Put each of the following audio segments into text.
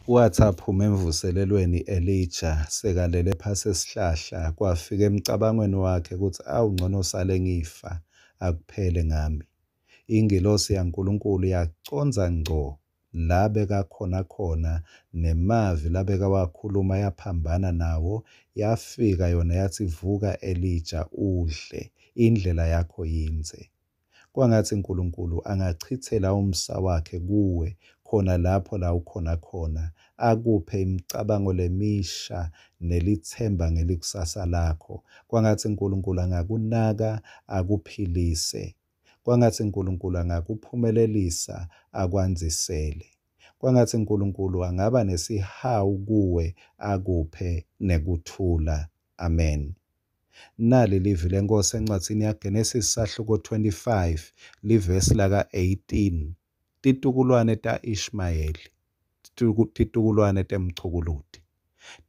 Watsi aphuma emvuselelweni Elija sekalele phasi esihlahla, kwafika emcabangweni wakhe kutsi awu ncono sale ngifa, akuphele ngami. Ingilosi yaNkulunkulu yacondza ngco la bekakhona khona nemavi labekawakhuluma yaphambana nawo, yafika yona yatsi vuka Elija udle, indlela yakho yindze. Kwangatsi Nkulunkulu angachitsela umsa wakhe kuwe khona lapho la ukhona khona, akuphe imicabango lemisha nelitsemba ngelikusasa lakho. Kwangatsi Nkulunkulu angakunaka akuphilise. Kwangatsi Nkulunkulu angakuphumelelisa akwandzisele. Kwangatsi Nkulunkulu angaba nesihawu kuwe akuphe nekuthula. Amen. Nali livi leNkhosi encwadzini yaGenesis sahluko 25 livesi laka-18. Titukulwane ta-Ishmayeli, titukulwane temchukuluti,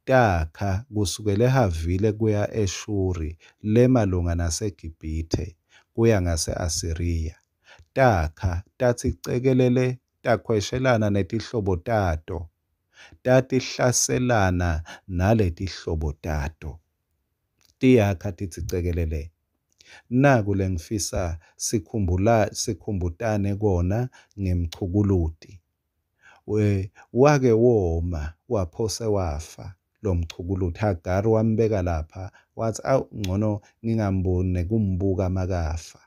takha kusukela eHavile kuya eShuri lemalunga naseGibhithe kuya ngase-Asiriya. Takha tatsi cekelele takhweshelana netihlobo tato, tatihlaselana naletihlobo tato. Tiyakha titsi cekelele. Naku lengifisa sikhumbula sikhumbutane kona ngemchukuluti. We wake woma waphose wafa lomchukuluti. Hagari wambeka lapha watsi awu ngcono ngingamboni nekumbuka makafa.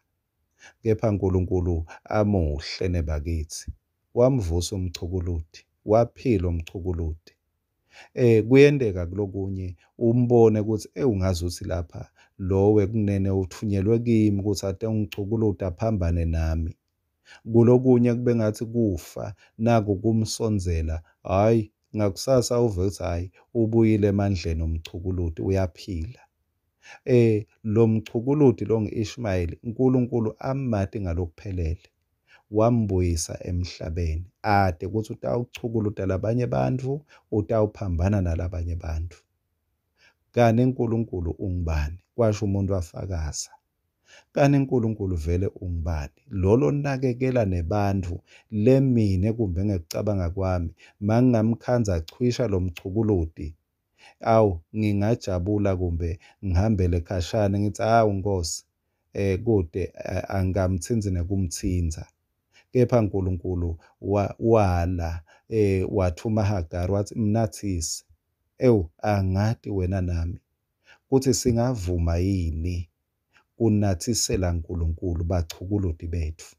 Kepha Nkulunkulu amuhle nebakitsi. Wamvusa umchukuluti, waphila umchukuluti. Kuyenteka kulokunye umbone kutsi ewungazuthi lapha lo wekunene utfunyelwe kimi kutsi atengichukuluta aphambane nami. Kulokunye kube ngathi kufa naku kumsondzela, hhayi ngakusasa uve kutsi hhayi ubuyile emandleni umchukuluti uyaphila. Lo mchukuluti lo ngu-Ishmayeli uNkulunkulu amati ngalokuphelele. Wambuyisa emhlabeni ate kutsi utawuchukuluta labanye bantfu, utawuphambana nalabanye bantfu. Kani uNkulunkulu ungubani? Kwasho umuntu afakaza. Kani uNkulunkulu vele ungubani? Lo lonakekela nebantfu lemine kumbe ngekucabanga kwami mangingamkhandza achwisha lomchukuluti awu ngingajabula kumbe ngihambele khashane ngitsi awu Nkosi kute angikamtsintsi nekumtsintsa. Kepha Nkulunkulu wala wathuma Hagari watsi mnathise. Ewu angati wena nami kutsi singavuma yini kunathisela Nkulunkulu bachukuluti betfu.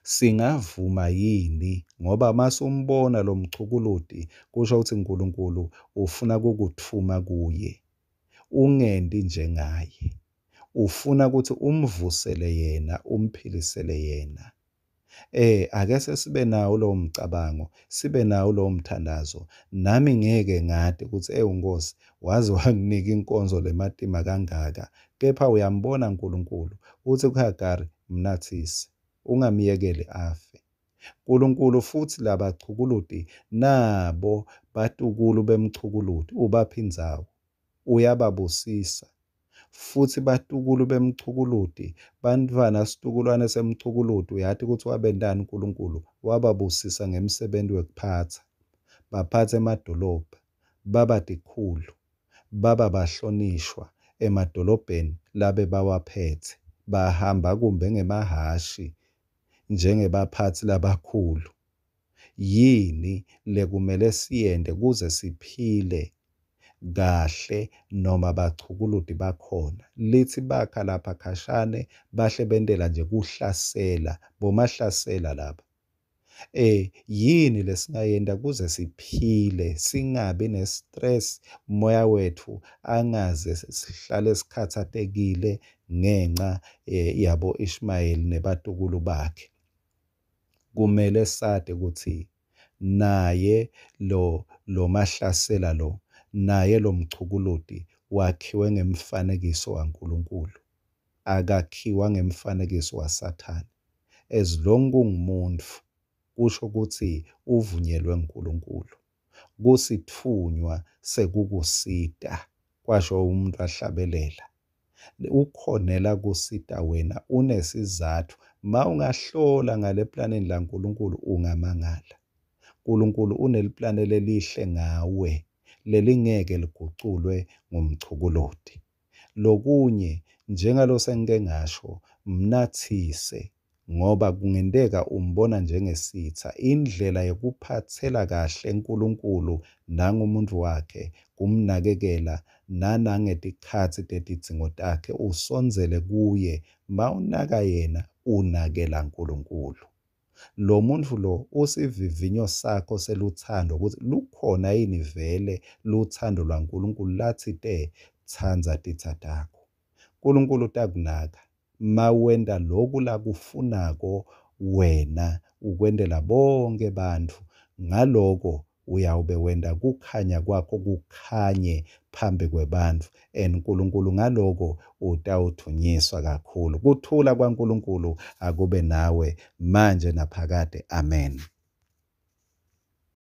Singavuma yini ngoba masumbona lo mchukuluti kusho ukuthi Nkulunkulu ufuna kukutfuma kuye. Ungenti njengaye. Ufuna ukuthi umvusele yena, umphilisele yena. Ake sesibe nawo lowo mcabango, sibe nawo lowo mthandazo. Nami ngeke ngati kutsi ewu Nkosi, waze wanginika inkonzo lematima kangaka. Kepha uyambona Nkulunkulu, utsi kuHagari, mnathise, ungamyekeli afe. Nkulunkulu futsi labachukuluti nabo batukulu bemchukuluti ubapha indzawo, uyababusisa. Futsi batukulu bemchukuluti, bantfwana situkulwane semchukuluti, uyati kutsi wabentani Nkulunkulu, wababusisa ngemsebenti wekuphatsa. Baphatsa emadolobha, baba tikhulu, baba bahlonishwa emadolobheni labebawaphetse. Bahamba kumbe ngemahhashi njengebaphatsi labakhulu. Yini lekumele siyente kuze siphile kahle noma bachukuluti bakhona? Litsi bakha lapha khashane bahle bentela nje kuhlasela, bomahlasela laba. Yini lesingayenta kuze siphile singabi ne-stress, moya wetfu angaze sihlale sikhatsatekile ngenca yabo Ishmayeli nebatukulu bakhe. Kumele sati kutsi naye lo lomahlasela lo naye lo mchukuluti wakhiwe ngemfanekiso waNkulunkulu, akakhiwa ngemfanekiso waSathane. As long kungumuntfu kusho kutsi uvunyelwe nguNkulunkulu. Kusitfunywa sekukusita, kwasho umuntu ahlabelela. Ukhonela kusita wena unesizatfu. Ma ungahlola ngale planeni laNkulunkulu ungamangala. Nkulunkulu uneliplane lelihle ngawe lelingeke liguculwe ngumchukuloti. Lokunye, njengalo sengike ngasho, mnatsise ngoba kungenteka umbona njengesitsa. Indlela yekuphatsela kahle Nkulunkulu nangumuntu wakhe kumnakekela nanangetikhatsi tetidzingo takhe, usondzele kuye. Mawunaka yena, unakela Nkulunkulu. Lo muntfu lo usivivinyo sakho selutsandvo kutsi lukhona yini vele lutsandvo lwaNkulunkulu latsite tsandza titsa takho. Nkulunkulu utakunaka mawenta loku lakufunako wena ukwentela bonkhe bantfu. Ngaloko uyawube wenta kukhanya kwakho kukhanye phambi kwebantfu and Nkulunkulu ngaloko utawudvunyiswa kakhulu. Kuthula kwaNkulunkulu akube nawe manje naphakade. Amen.